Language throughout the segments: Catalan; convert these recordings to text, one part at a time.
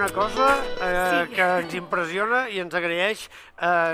una cosa que ens impressiona i ens agraeix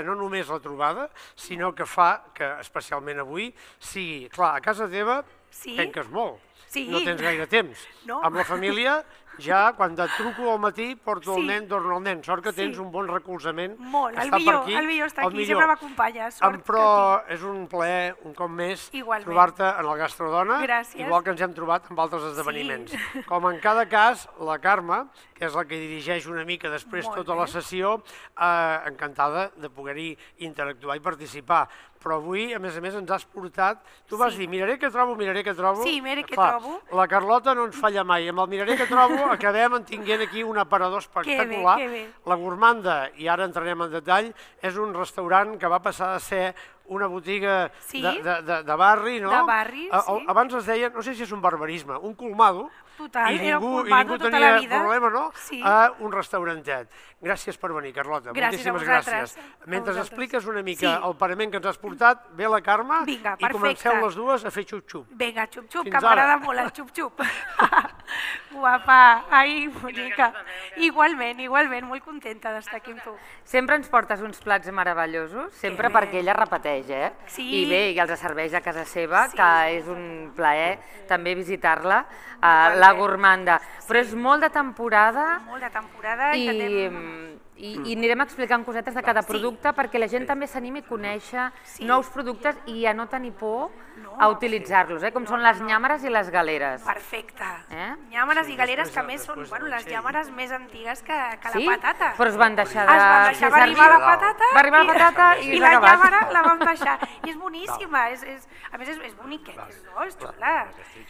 no només la trobada, sinó que fa que, especialment avui, sigui, clar, a casa teva penques molt, no tens gaire temps. Amb la família, ja quan et truco al matí porto el nen, torno el nen. Sort que tens un bon recolzament. Molt, el millor està aquí, sempre m'acompanya. Però és un plaer, un cop més, trobar-te en el Gastrodona, igual que ens hem trobat en altres esdeveniments. Com en cada cas, la Carme, que és la que dirigeix una mica després tota la sessió, encantada de poder-hi interactuar i participar. Però avui, a més, ens has portat... Tu vas dir, miraré què trobo, miraré què trobo. Sí, miraré què trobo. La Carlota no ens falla mai. Amb el miraré què trobo acabem tenint aquí un aparador espectacular. La Gourmanda, i ara entrarem en detall, és un restaurant que va passar a ser una botiga de barri, no? De barri, sí. Abans es deia, no sé si és un barbarisme, un colmado, total, i ningú tenia problema, no? A un restaurantet. Gràcies per venir, Carlota. Moltíssimes gràcies. Mentre expliques una mica el parament que ens has portat, ve la Carme i comenceu les dues a fer xup-xup. Vinga, xup-xup, que m'agrada molt el xup-xup. Guapa, ai, bonica. Igualment, molt contenta d'estar aquí amb tu. Sempre ens portes uns plats meravellosos, sempre perquè ella repeteix, eh? I bé, i els serveix a casa seva, que és un plaer també visitar-la, la Gourmanda. Però és molt de temporada. Molt de temporada i anirem explicant cosetes de cada producte perquè la gent també s'animi a conèixer nous productes i a no tenir por a utilitzar-los, com són les llàmeres i les galeres. Perfecte. Llàmeres i galeres que a més són les llàmeres més antigues que la patata. Però es van deixar de fer servir. Va arribar la patata i la llàmera la vam deixar. I és boníssima, a més és boniqueta, és xula.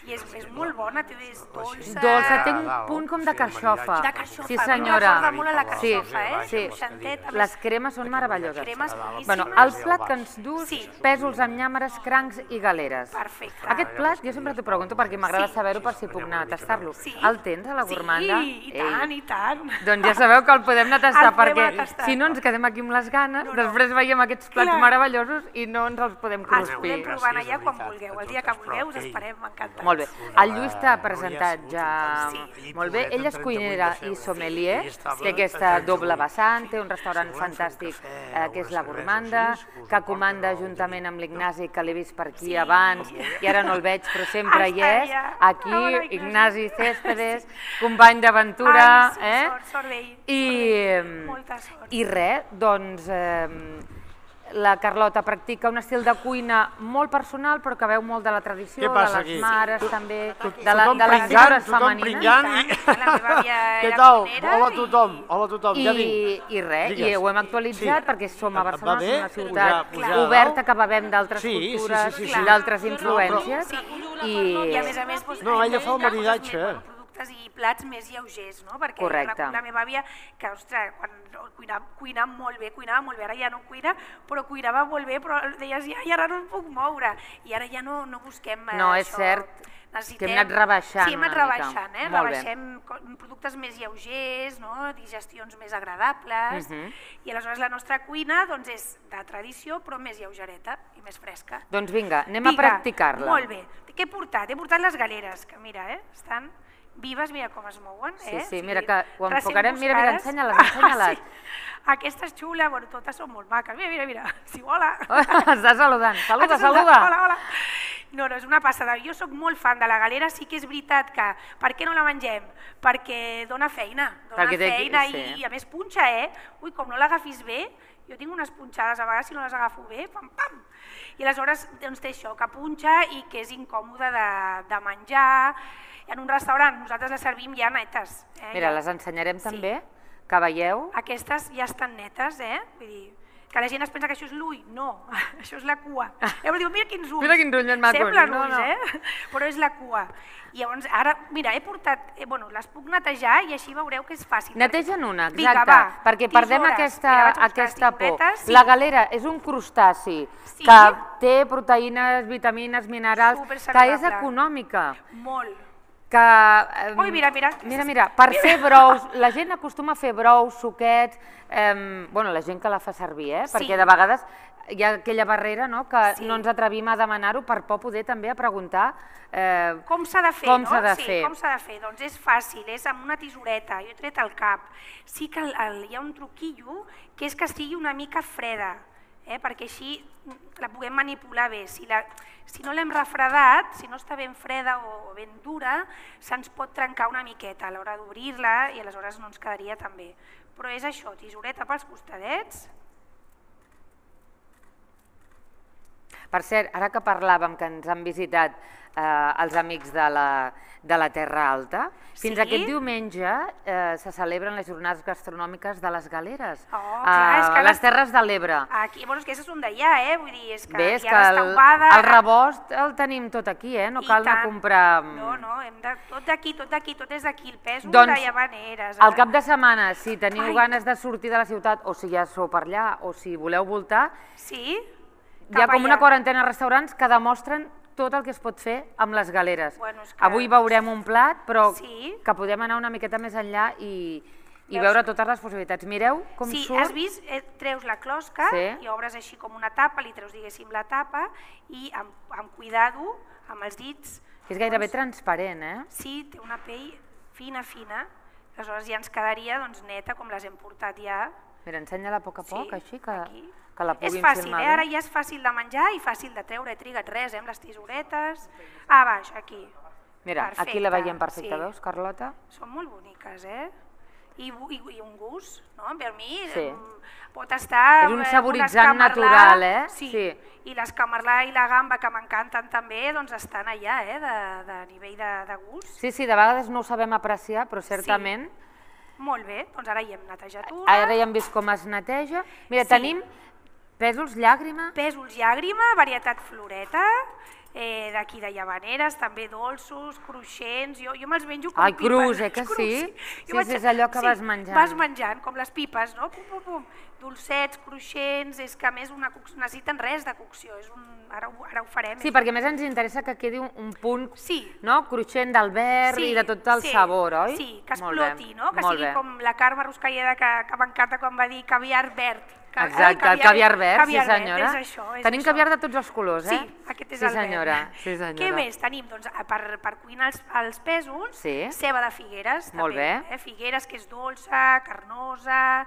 I és molt bona, és dolça. Dolça, té un punt com de carxofa. De carxofa. Sí, senyora. M'acorda molt a la carxofa, Sí, les cremes són meravelloses. Cremes boníssimes. El plat que ens dus, pèsols amb llàmeres, crancs i galeres. Perfecte. Aquest plat, jo sempre t'ho pregunto perquè m'agrada saber-ho per si puc anar a tastar-lo. El tens a la Gourmanda? Sí, i tant. Doncs ja sabeu que el podem anar a tastar perquè si no ens quedem aquí amb les ganes, després veiem aquests plats meravellosos i no ens els podem cruspir. Els podem provar allà quan vulgueu. El dia que vulgueu us esperem encantats. Molt bé. El Lluís t'ha presentat ja molt bé. Ell és cuinera i sommelier, té aquesta doble vessant, té un restaurant fantàstic que és la Gourmanda, que comanda juntament amb l'Ignasi, que l'he vist per aquí abans i ara no el veig, però sempre hi és. Aquí, Ignasi Céspedes, company d'aventura. I res, doncs la Carlota practica un estil de cuina molt personal, però que veu molt de la tradició, de les mares també, de les figures femenines. Què tal? Hola a tothom. I res, i ho hem actualitzat perquè som a Barcelona, som una ciutat oberta que bevem d'altres cultures, d'altres influències. I a més, no, ella fa el maridatge. I plats més lleugers, no? Perquè la meva àvia, que, ostres, quan cuinava molt bé, ara ja no cuina, però cuinava molt bé, però deies, i ara no em puc moure, i ara ja no busquem això. No, és cert que hem anat rebaixant una mica. Sí, hem anat rebaixant, rebaixem productes més lleugers, digestions més agradables, i aleshores la nostra cuina és de tradició, però més lleugereta i més fresca. Doncs vinga, anem a practicar-la. Molt bé. Què he portat? He portat les galeres, que mira, estan vives, mira com es mouen. Sí, mira que ho enfocarem, mira, ensenya-les. Aquesta és xula, bueno, totes són molt maques, mira, si hola. Està saludant, saluda. Hola. No, és una passada. Jo sóc molt fan de la galera, sí que és veritat que... Per què no la mengem? Perquè dona feina, i a més punxa, Ui, com no l'agafis bé, jo tinc unes punxades a vegades si no les agafo bé, pam. I aleshores té això, que punxa i que és incòmode de menjar. En un restaurant nosaltres les servim ja netes. Mira, les ensenyarem també, que veieu. Aquestes ja estan netes, Vull dir, que la gent es pensa que això és l'ull. No, això és la cua. Diu, mira quins ulls. Mira quins ulls ben macos. Semblen ulls, però és la cua. I llavors, ara, mira, he portat... les puc netejar i així veureu que és fàcil. Neteja'n una, exacte, perquè perdem aquesta por. La galera és un crustaci que té proteïnes, vitamines, minerals, que és econòmica. Molt. Ui, mira. Mira, per fer brous, la gent acostuma a fer brous, suquets, la gent que la fa servir, perquè de vegades hi ha aquella barrera que no ens atrevim a demanar-ho per por poder també a preguntar com s'ha de fer, no? Com s'ha de fer? Doncs és fàcil, és amb una tisoreta, jo he tret el cap. Sí que hi ha un truquillo que és que estigui una mica freda, perquè així la puguem manipular bé. Si no l'hem refredat, si no està ben freda o ben dura, se'ns pot trencar una miqueta a l'hora d'obrir-la i aleshores no ens quedaria tan bé. Però és això, tisoreta pels costadets. Per cert, ara que parlàvem que ens han visitat els amics de la Terra Alta, fins aquest diumenge se celebren les jornades gastronòmiques de les Galeres, a les Terres de l'Ebre. És que són d'allà, vull dir, és que hi ha restaurada... El rebost el tenim tot aquí, no cal anar a comprar... No, tot d'aquí, tot és d'aquí, el pèsol de Llavaneres. Al cap de setmana, si teniu ganes de sortir de la ciutat, o si ja sou per allà, o si voleu voltar, hi ha com una quarantena de restaurants que demostren tot el que es pot fer amb les Galeres. Avui veurem un plat, però que podem anar una miqueta més enllà i veure totes les possibilitats. Mireu com surt. Sí, has vist? Treus la closca i obres així com una tapa, li treus, diguéssim, la tapa i amb cuidado, amb els dits... És gairebé transparent, Sí, té una pell fina, aleshores ja ens quedaria neta com les hem portat ja. Mira, ensenya-la a poc a poc, així que la puguin filmar. És fàcil, ara ja és fàcil de menjar i fàcil de treure, he trigat res, amb les tisoretes. A baix, aquí. Mira, aquí la veiem perfecta, veus, Carlota? Són molt boniques, I un gust, no? Per mi pot estar... És un saboritzant natural, Sí, i l'escamarlà i la gamba, que m'encanten també, doncs estan allà, de nivell de gust. Sí, de vegades no ho sabem apreciar, però certament... Molt bé, doncs ara hi hem netejat una. Ara ja hem vist com es neteja. Mira, tenim pèsols llàgrima. Pèsols llàgrima, varietat floreta, d'aquí de Llavaneres, també dolços, cruixents, jo me'ls menjo com pipes. Ai, crus, que sí? Sí, és allò que vas menjant. Vas menjant, com les pipes, no? Pum. Dolcets, cruixents, és que a més necessiten res de cocció, ara ho farem. Sí, perquè a més ens interessa que quedi un punt cruixent del verd i de tot el sabor, oi? Sí, que exploti, no? Que sigui com la Carme Ruscalleda, que m'encanta quan va dir caviar verd. Exacte, el caviar verd, sí senyora. Tenim caviar de tots els colors, Sí, aquest és el verd. Sí senyora. Què més tenim? Doncs per cuinar els pèsols, ceba de Figueres. Molt bé. Figueres, que és dolça, carnosa,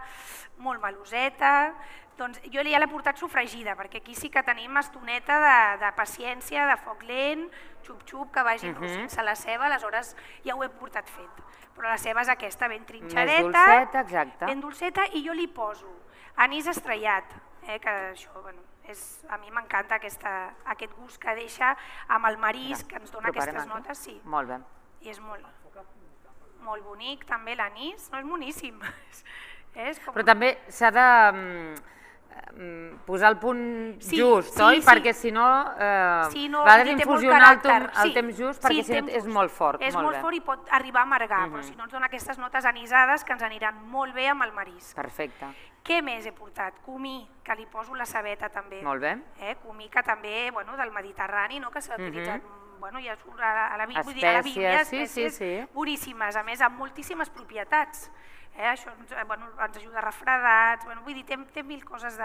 molt meloseta. Doncs jo ja l'he portat sofregida, perquè aquí sí que tenim estoneta de paciència, de foc lent, xup-xup, que vagi sense la ceba, aleshores ja ho he portat fet. Però la ceba és aquesta, ben trinxadeta. Més dolceta, exacte. Ben dolceta, i jo li poso anís estrellat, que això, a mi m'encanta aquest gust que deixa amb el marisc, que ens dona aquestes notes. Molt bé. I és molt bonic també l'anís, no és boníssim. Però també s'ha de posar el punt just, oi? Perquè si no, va d'infusionar el temps just, perquè si no és molt fort. És molt fort i pot arribar a amargar, però si no ens dona aquestes notes anisades que ens aniran molt bé amb el marisc. Perfecte. Què més he portat? Comí, que li poso la cebeta també. Molt bé. Comí, que també, del Mediterrani, que s'ha utilitzat, ja surt a la Bíblia, espècies boníssimes, a més amb moltíssimes propietats. Això ens ajuda a refredats, vull dir, té mil coses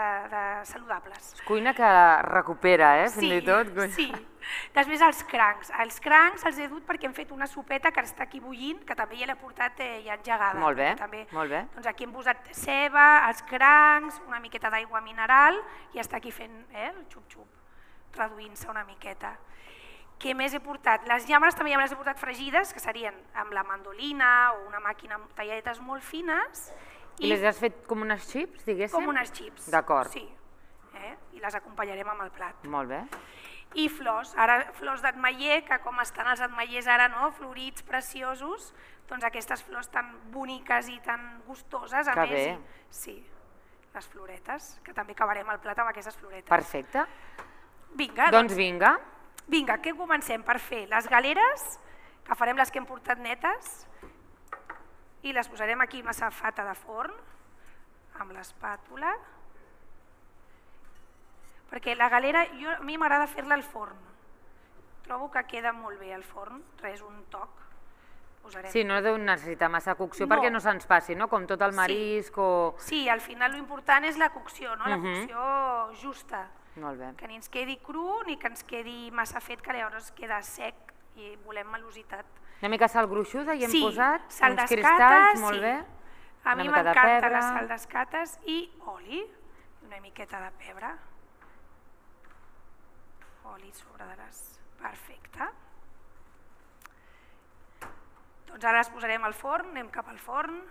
saludables. Cuina que recupera, fins i tot. Sí. Després els crancs. Els crancs els he dut perquè hem fet una sopeta que està aquí bullint, que també ja l'he portat ja engegada. Molt bé, molt bé. Doncs aquí hem posat ceba, els crancs, una miqueta d'aigua mineral i està aquí fent el xup-xup, reduint-se una miqueta. Què més he portat? Les llàmeres també ja me les he portat fregides, que serien amb la mandolina o una màquina amb talladetes molt fines. I les has fet com unes xips, diguéssim? Com unes xips. D'acord. Sí. I les acompanyarem amb el plat. Molt bé. I flors, ara flors d'ametller, que com estan els ametllers ara, florits, preciosos, doncs aquestes flors tan boniques i tan gustoses, a més. Que bé. Sí, les floretes, que també acabarem el plat amb aquestes floretes. Perfecte. Vinga. Doncs vinga. Vinga, què comencem per fer? Les galeres, que farem les que hem portat netes, i les posarem aquí amb safata de forn, amb l'espàtula, perquè la galera, a mi m'agrada fer-la al forn, trobo que queda molt bé al forn, res, un toc, posarem. Sí, no deu necessitar massa cocció perquè no se'ns passi, no? Com tot el marisc o... Sí, al final l'important és la cocció, no? La cocció justa. Molt bé. Que ni ens quedi cru ni que ens quedi massa fet, que llavors queda sec i volem malositat. Una mica sal gruixuda i hem posat sal uns d'escates, cristalls, molt bé. A mi m'encanta la sal d'escates i oli, una miqueta de pebre. Oli sobre de les... Perfecte. Doncs ara les posarem al forn, anem cap al forn.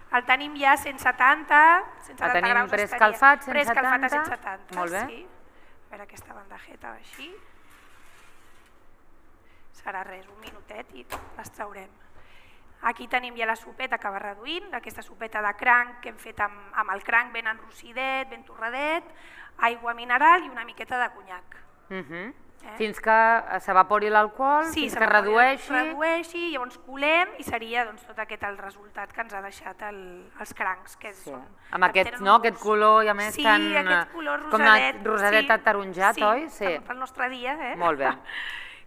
El tenim ja a 170 graus. El tenim preescalfat, 170? Preescalfat a 170, molt bé. sí. A veure aquesta bandejeta així. Serà res, un minutet i les traurem. Aquí tenim ja la sopeta que va reduint, aquesta sopeta de cranc que hem fet amb el cranc ben enrossidet, ben torradet, aigua mineral i una miqueta de conyac. Fins que s'evapori l'alcohol, fins que redueixi. Redueixi, llavors colem i seria tot aquest el resultat que ens ha deixat els crancs. Amb aquest color i a més tan... Sí, aquest color rosadet. Com rosadet ataronjat, oi? Sí, pel nostre dia. Molt bé.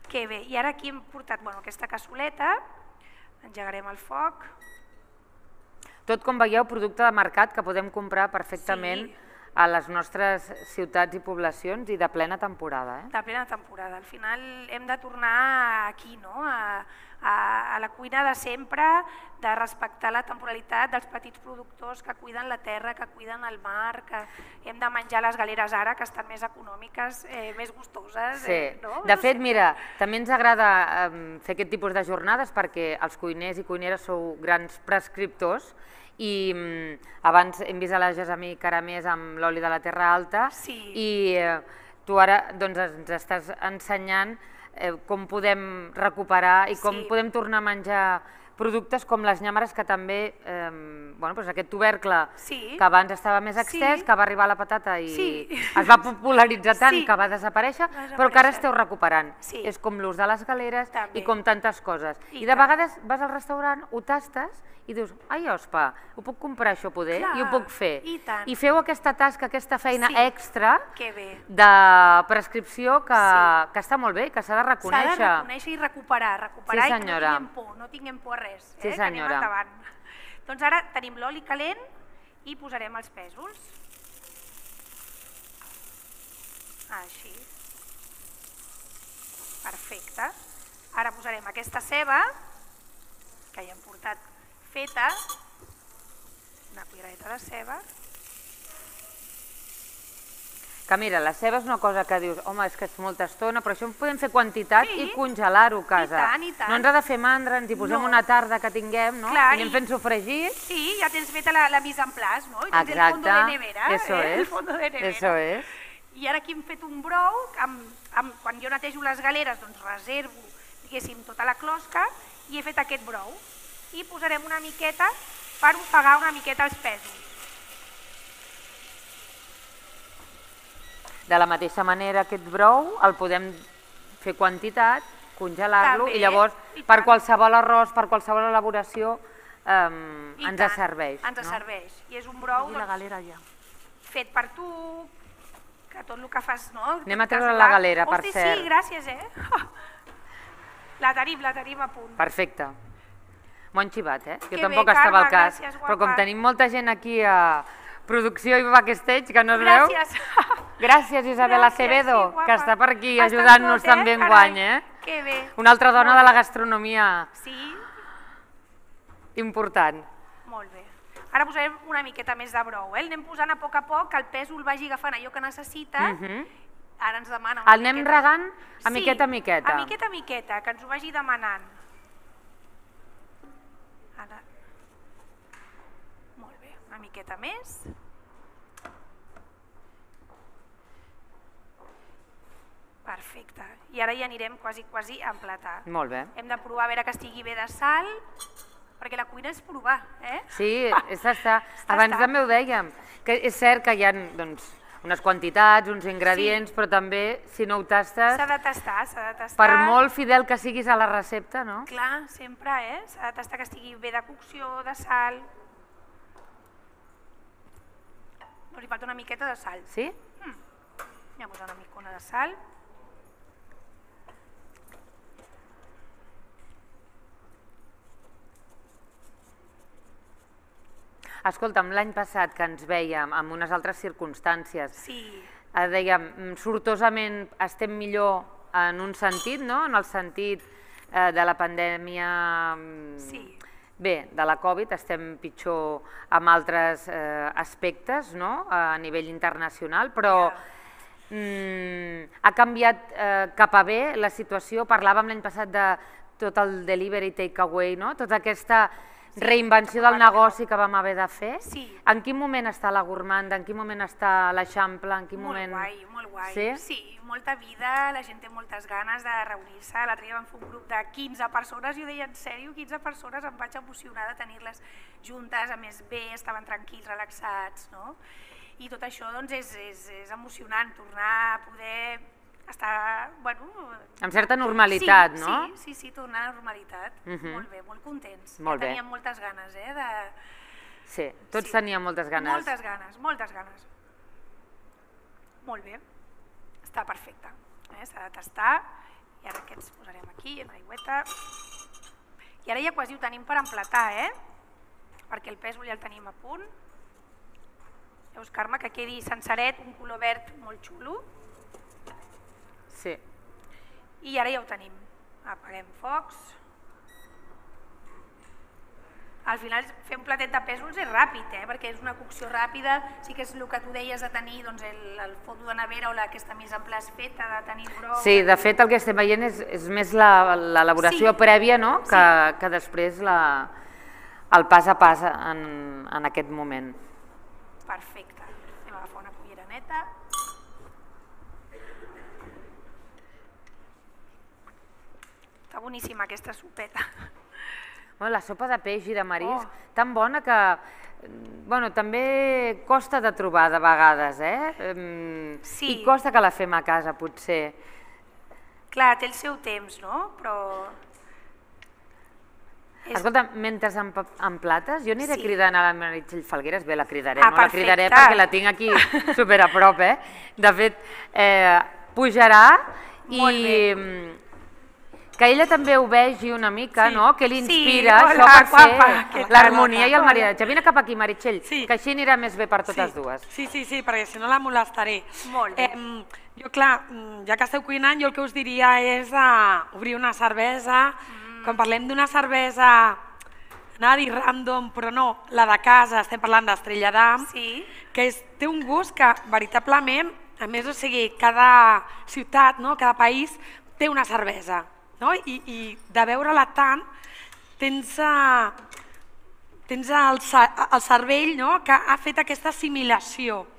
Que bé, i ara aquí hem portat aquesta cassoleta, engegarem el foc. Tot, com veieu, producte de mercat que podem comprar perfectament a les nostres ciutats i poblacions i de plena temporada. De plena temporada. Al final hem de tornar aquí, a la cuina de sempre, de respectar la temporalitat dels petits productors que cuiden la terra, que cuiden el mar, que hem de menjar les galeres ara, que estan més econòmiques, més gustoses. De fet, mira, també ens agrada fer aquest tipus de jornades perquè els cuiners i cuineres sou grans prescriptors i abans hem vist a la Gessamí Caramés amb l'oli de la Terra Alta i tu ara ens estàs ensenyant com podem recuperar i com podem tornar a menjar productes com les nyàmeres, que també, aquest tubercle que abans estava més extès, que va arribar a la patata i es va popularitzar tant que va desaparèixer, però que ara esteu recuperant. És com l'ús de les galeres i com tantes coses. I de vegades vas al restaurant, ho tastes i dius, ai, ospa, ho puc comprar això poder i ho puc fer. I feu aquesta tasca, aquesta feina extra de prescripció que està molt bé, que s'ha de reconèixer. S'ha de reconèixer i recuperar i que no tinguem por a res, que anem endavant. Doncs ara tenim l'oli calent i posarem els pèsols. Així. Perfecte. Ara posarem aquesta ceba, que ja hem portat feta, una culleradeta de ceba. Que mira, la ceba és una cosa que dius, home, és que és molta estona, però això podem fer quantitat i congelar-ho a casa. I tant. No ens ha de fer mandra, ens hi posem una tarda que tinguem, no? I anem fent sofregit. Sí, ja tens feta la mise en place, no? I tens el fondo de nevera. Eso es. I ara aquí hem fet un brou, quan jo netejo les galeres, doncs reservo, diguéssim, tota la closca i he fet aquest brou. I posarem una miqueta per ofegar una miqueta els pèsols. De la mateixa manera, aquest brou el podem fer quantitat, congelar-lo i llavors per qualsevol arròs, per qualsevol elaboració ens serveix. Ens serveix. I és un brou fet per tu, que tot el que fas... Anem a treure la galera, per cert. Sí, gràcies, La tenim a punt. Perfecte. M'ho han xivat, jo tampoc estava al cas, però com tenim molta gent aquí a producció i backstage, que no es veu... Gràcies, Isabel Acevedo, que està per aquí ajudant-nos també enguany. Que bé. Una altra dona de la gastronomia important. Molt bé. Ara posarem una miqueta més de brou. Anem posant a poc, que el pèsol vagi agafant allò que necessita. Ara ens demana una miqueta. El anem regant a miqueta a miqueta. A miqueta a miqueta, que ens ho vagi demanant. Molt bé, una miqueta més. Perfecte. I ara ja anirem quasi a emplatar. Molt bé. Hem de provar a veure que estigui bé de sal, perquè la cuina és provar, Sí, és tastar. Abans també ho dèiem, que és cert que hi ha unes quantitats, uns ingredients, però també, si no ho tastes... S'ha de tastar. Per molt fidel que siguis a la recepta, no? Clar, sempre, s'ha de tastar que estigui bé de cocció, de sal... No li falta una miqueta de sal. Sí? Anem a posar una micona de sal. Escolta'm, l'any passat que ens vèiem en unes altres circumstàncies, dèiem, sortosament estem millor en un sentit, en el sentit de la pandèmia, bé, de la Covid, estem pitjor en altres aspectes a nivell internacional, però ha canviat cap a bé la situació. Parlàvem l'any passat de tot el delivery takeaway, tota aquesta reinvenció del negoci que vam haver de fer. En quin moment està la Gourmanda, en quin moment està l'Eixample, en quin moment... Molt guai, molt guai. Sí, molta vida, la gent té moltes ganes de reunir-se. L'altre dia vam fer un grup de 15 persones i ho deia en sèrio, 15 persones, em vaig emocionar de tenir-les juntes, a més bé, estaven tranquils, relaxats, no? I tot això és emocionant, tornar a poder estar, bueno... Amb certa normalitat, no? Sí, tornar a la normalitat. Molt bé, molt contents. Teníem moltes ganes, de... Sí, tots teníem moltes ganes. Moltes ganes, moltes ganes. Molt bé, està perfecte. S'ha de tastar, i ara què ens posarem aquí, en l'aigüeta. I ara ja quasi ho tenim per emplatar, perquè el pèsol ja el tenim a punt. Veus, Carme, que quedi senceret, un color verd molt xulo. Sí. I ara ja ho tenim. Apaguem focs. Al final fer un platet de pèsols és ràpid, perquè és una cocció ràpida, sí que és el que tu deies de tenir el fondo de nevera o aquesta mise en place feta, de tenir brou... Sí, de fet el que estem veient és més l'elaboració prèvia que després el pas a pas en aquest moment. Perfecte. Anem a agafar una cullera neta. Està boníssima aquesta sopeta. La sopa de peix i de marisc, tan bona que també costa de trobar de vegades, i costa que la fem a casa, potser. Clar, té el seu temps, no? Però... Escolta, mentre emplates, jo aniré cridant a la Meritxell Falgueras, bé, la cridaré, no la cridaré perquè la tinc aquí super a prop, de fet, pujarà i... Que ella també ho vegi una mica, que l'inspira això per fer l'harmonia i el maridatge. Vine cap aquí, Meritxell, que així anirà més bé per totes dues. Sí, perquè si no la molestaré. Molt bé. Jo, clar, ja que esteu cuinant, jo el que us diria és obrir una cervesa. Quan parlem d'una cervesa, anava a dir random, però no, la de casa, estem parlant d'Estrella d'Am, que té un gust que, veritablement, a més, o sigui, cada ciutat, cada país té una cervesa. I de veure-la tant tens el cervell que ha fet aquesta assimilació.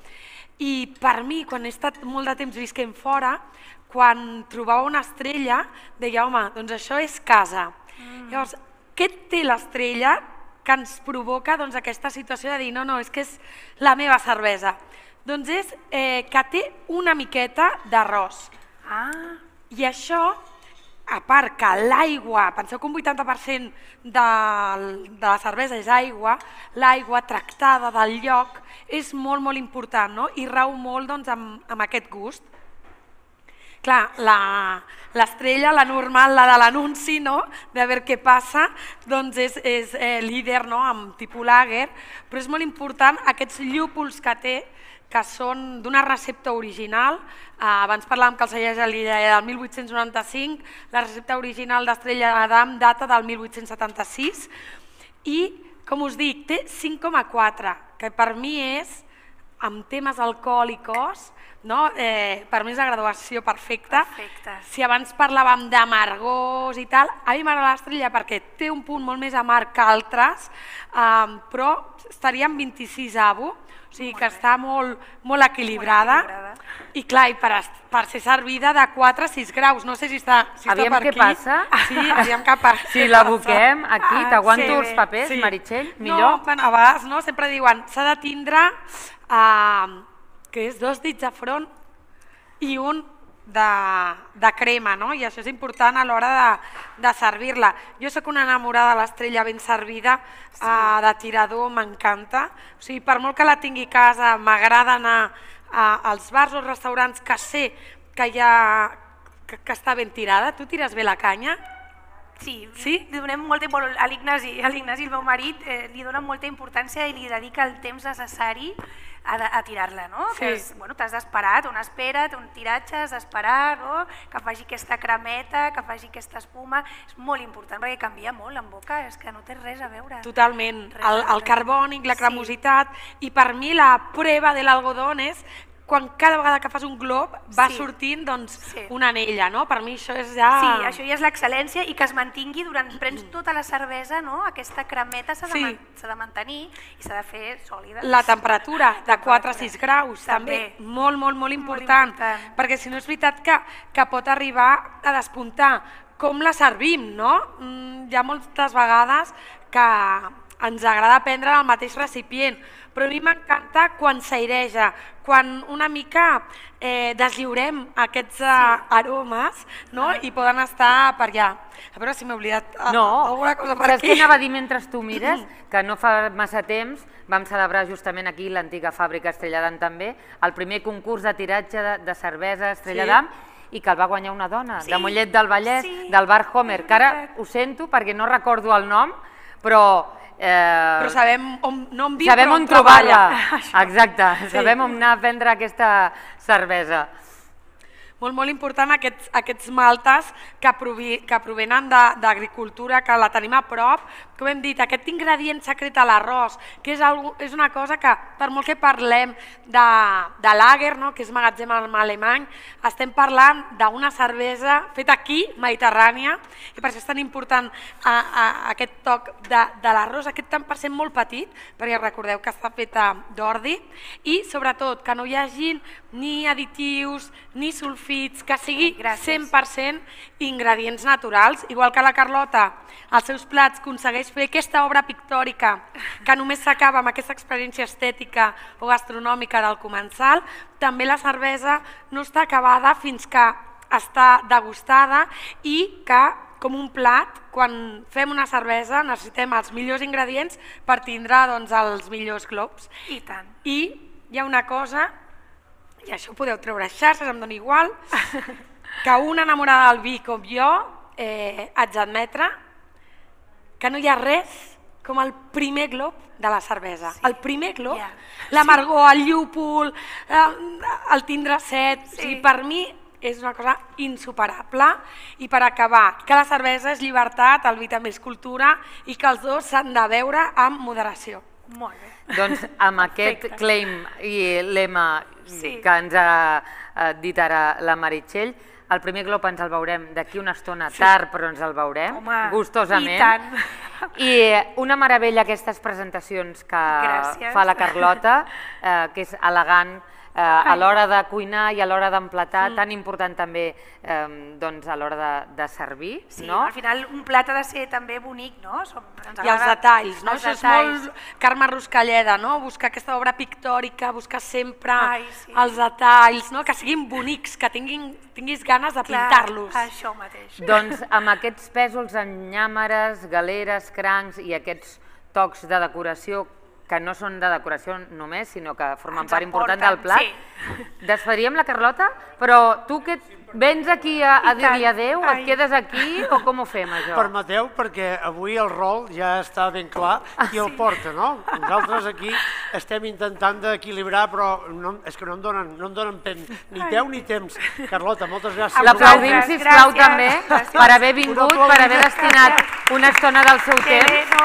I per mi, quan he estat molt de temps visquent fora, quan trobava una estrella, deia, home, doncs això és casa. Llavors, què té l'estrella que ens provoca aquesta situació de dir, no, és que és la meva cervesa? Doncs és que té una miqueta d'arròs. I això... A part que l'aigua, penseu que un 80% de la cervesa és aigua, l'aigua tractada del lloc és molt, molt important i rau molt amb aquest gust. Clar, l'estrella, la normal, la de l'anunci, de veure què passa, doncs és líder amb tipus lager, però és molt important aquests llúpols que té, que són d'una recepta original. Abans parlàvem que el celler Gelida era del 1895, la recepta original d'Estrella d'Am data del 1876 i, com us dic, té 5,4, que per mi és, amb temes alcohòlicos, per mi és la graduació perfecta. Si abans parlàvem d'amargors i tal, a mi m'agrada l'Estrella perquè té un punt molt més amarg que altres, però estaria en 26 avo, o sigui que està molt equilibrada i clar, per ser servida de 4 a 6 graus, no sé si està per aquí. Aviam què passa. Sí, aviam què passa. Si l'aboquem aquí, t'aguanto els papers, Meritxell, millor? No, a vegades sempre diuen, s'ha de tindre que és 2 dits de front i un de crema, i això és important a l'hora de servir-la. Jo soc una enamorada de l'estrella ben servida, de tirador, m'encanta. O sigui, per molt que la tingui a casa, m'agrada anar als bars o restaurants que sé que està ben tirada. Tu tires bé la canya? Sí, li donem molta importància, a l'Ignasi, el meu marit, li dona molta importància i li dedica el temps necessari a tirar-la, no? T'has d'esperar, té una espera, té un tiratge, has d'esperar, que faci aquesta cremeta, que faci aquesta espuma, és molt important perquè canvia molt en boca, és que no té res a veure. Totalment, el carbònic, la cremositat, i per mi la prova de l'algodón és quan cada vegada que fas un glob va sortint una anella, no? Per mi això és ja... Sí, això ja és l'excel·lència i que es mantingui durant... Prens tota la cervesa, no? Aquesta cremeta s'ha de mantenir i s'ha de fer sòlida. La temperatura de 4 a 6 graus també, molt, molt, molt important, perquè si no és veritat que pot arribar a despuntar. Com la servim, no? Hi ha moltes vegades que ens agrada prendre el mateix recipient, però a mi m'encanta quan s'aireja, quan una mica deslliurem aquests aromes i poden estar per allà. A veure si m'he oblidat alguna cosa per aquí. Saps què anava a dir mentre tu mires? Que no fa massa temps vam celebrar justament aquí, l'antiga fàbrica Estrella d'Am també, el primer concurs de tiratge de cervesa Estrella d'Am, i que el va guanyar una dona, de Mollet del Vallès, del bar Homer, que ara ho sento perquè no recordo el nom, però sabem on viu, sabem on trobar-la. Exacte, sabem on anar a prendre aquesta cervesa. Molt, molt important aquests maltes que provenen d'agricultura, que la tenim a prop. Com hem dit, aquest ingredient secret a l'arròs, que és una cosa que, per molt que parlem de lager, que és magatzem alemany, estem parlant d'una cervesa feta aquí, mediterrània, i per això és tan important aquest toc de l'arròs, aquest tant per cent molt petit, perquè recordeu que està feta d'ordi, i sobretot que no hi hagi ni additius, ni sulfits, que sigui 100% ingredients naturals, igual que la Carlota als seus plats aconsegueix fer aquesta obra pictòrica que només s'acaba amb aquesta experiència estètica o gastronòmica del comensal, també la cervesa no està acabada fins que està degustada i que, com un plat, quan fem una cervesa necessitem els millors ingredients per tindre els millors globs. I tant. I hi ha una cosa, i això ho podeu treure a xarxes, em dona igual, que una enamorada del vi com jo haig d'admetre que no hi ha res com el primer glob de la cervesa. El primer glob, l'amargor, el llúpol, el tindre set, per mi és una cosa insuperable. I per acabar, que la cervesa és llibertat, el vi també és cultura i que els dos s'han de beure amb moderació. Molt bé. Doncs amb aquest claim i lema que ens ha dit ara la Meritxell, el primer glob ens el veurem d'aquí una estona, tard però ens el veurem, gustosament. I tant. I una meravella aquestes presentacions que fa la Carlota, que és elegant a l'hora de cuinar i a l'hora d'emplatar, tan important també a l'hora de servir. Sí, al final un plat ha de ser també bonic, no? I els detalls, no? Això és molt Carme Ruscalleda, no? Buscar aquesta obra pictòrica, buscar sempre els detalls, que siguin bonics, que tinguis ganes de pintar-los. Això mateix. Doncs amb aquests pèsols en llàmeres, galeres, crancs i aquests tocs de decoració que no són de decoració només, sinó que formen part important del plat. Desfediríem la Carlota, però tu que vens aquí a dir-li adéu, et quedes aquí o com ho fem, això? Permeteu, perquè avui el rol ja està ben clar qui el porta, no? Nosaltres aquí estem intentant d'equilibrar, però és que no em donen ni peu ni temps. Carlota, moltes gràcies. L'aplaudim, sisplau, també, per haver vingut, per haver destinat una estona del seu temps,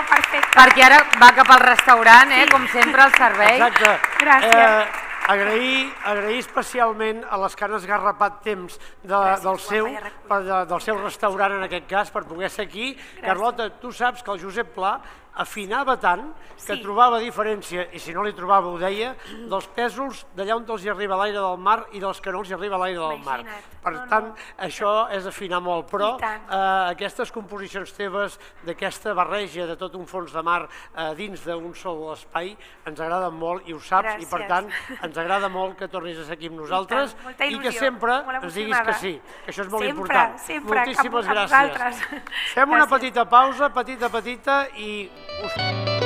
perquè ara va cap al restaurant, com sempre, al servei. Exacte. Gràcies. Agrair especialment a les que han esgarrapat temps del seu restaurant, en aquest cas, per poder ser aquí. Carlota, tu saps que el Josep Pla afinava tant que trobava diferència, i si no li trobava ho deia, dels pèsols d'allà on els hi arriba l'aire del mar i dels que no els hi arriba l'aire del mar. Per tant, això és afinar molt, però aquestes composicions teves, d'aquesta barreja de tot un fons de mar dins d'un sol espai, ens agraden molt i ho saps, i per tant ens agrada molt que tornis a ser aquí amb nosaltres i que sempre ens diguis que sí, que això és molt important. Moltíssimes gràcies. Fem una petita pausa, petita, i us...